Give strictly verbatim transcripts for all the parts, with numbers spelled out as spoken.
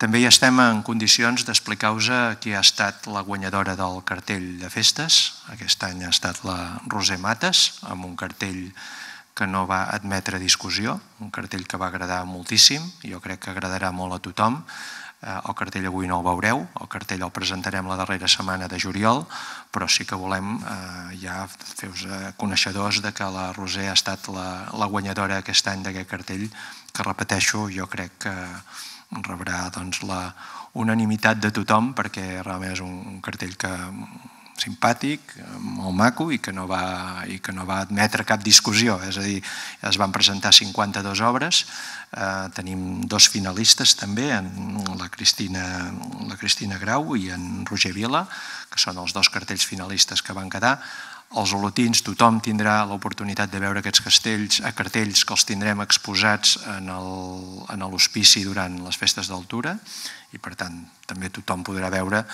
També ja estem en condicions d'explicar-vos qui ha estat la guanyadora del cartell de festes. Aquest any ha estat la Roser Mates, amb un cartell que no va admetre discussió, un cartell que va agradar moltíssim, jo crec que agradarà molt a tothom. El cartell avui no el veureu, el cartell el presentarem la darrera setmana de juliol, però sí que volem ja fer-vos coneixedors que la Roser ha estat la guanyadora aquest any d'aquest cartell, que repeteixo, jo crec que rebrà la unanimitat de tothom, perquè realment és un cartell simpàtic, molt maco i que no va admetre cap discussió. És a dir, es van presentar cinquanta-dues obres, tenim dos finalistes també, la Cristina Grau i en Roger Vila, que són els dos cartells finalistes que van quedar. Els olotins, tothom tindrà l'oportunitat de veure aquests cartells que els tindrem exposats en l'hospici durant les festes d'Altura i per tant també tothom podrà veure,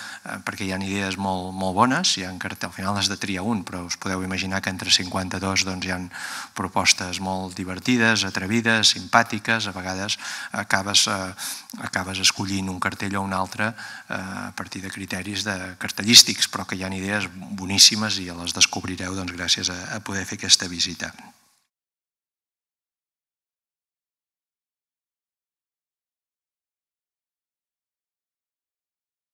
perquè hi ha idees molt bones, al final has de triar un, però us podeu imaginar que entre cinquanta-dos hi ha propostes molt divertides, atrevides, simpàtiques, a vegades acabes escollint un cartell o un altre a partir de criteris cartellístics, però que hi ha idees boníssimes i les descobrireu gràcies a poder fer aquesta visita.